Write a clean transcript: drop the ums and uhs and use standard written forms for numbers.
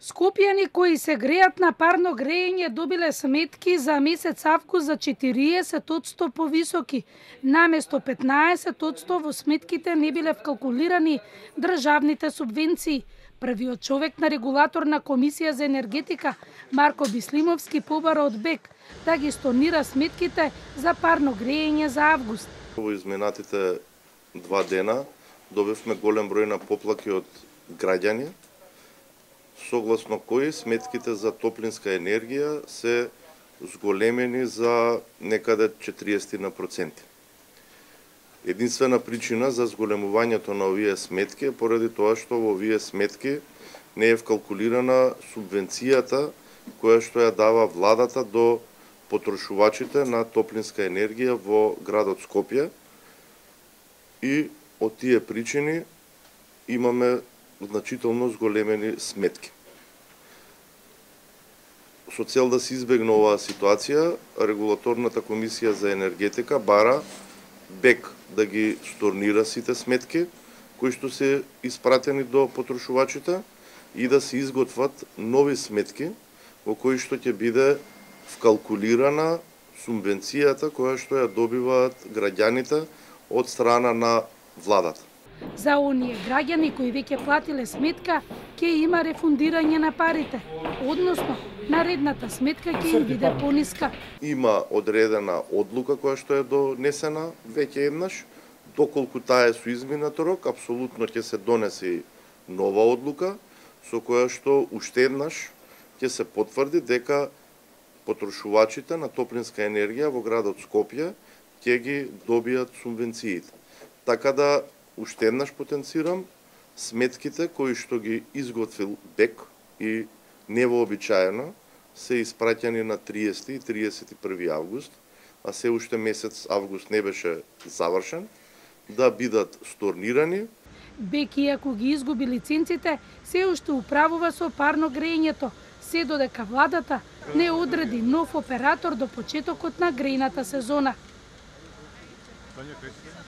Скопјани кои се греат на парно грејење добиле сметки за месец август за 40% повисоки. Наместо 15% во сметките не биле вкалкулирани државните субвенции. Првиот човек на регулаторна комисија за енергетика, Марко Бислимовски, побара од БЕК да ги stornира сметките за парно грејење за август. Во изминатите 2 дена добивме голем број на поплаки од граѓани, согласно кои сметките за топлинска енергија се зголемени за некаде 40%. Единствена причина за зголемувањето на овие сметки е поради тоа што во овие сметки не е вкалкулирана субвенцијата која што ја дава владата до потрошувачите на топлинска енергија во градот Скопје, и од тие причини имаме значително зголемени сметки. Со цел да се избегне оваа ситуација, регулаторната комисија за енергетика бара БЕК да ги stornира сите сметки кои што се испратени до потрошувачите и да се изготват нови сметки во кои што ќе биде вкалкулирана субвенцијата која што ја добиваат граѓаните од страна на владата. За оние граѓани кои веќе платиле сметка, ќе има рефундирање на парите, односно наредната сметка ќе им биде пониска. Има одредена одлука која што е донесена веќе еднаш, доколку таа е со изминат рок, апсолутно ќе се донесе нова одлука со која што уште еднаш ќе се потврди дека потрошувачите на топлинска енергија во градот Скопје ќе ги добијат субвенциите. Така да уште еднаш потенцирам, сметките кои што ги изготвил БЕК и невообичаено се испраќани на 30 и 31 август, а се уште месец август не беше завршен, да бидат stornирани. БЕК, иако ги изгуби лиценците, се уште управува со парно грејењето, се додека владата не одреди нов оператор до почетокот на грејната сезона.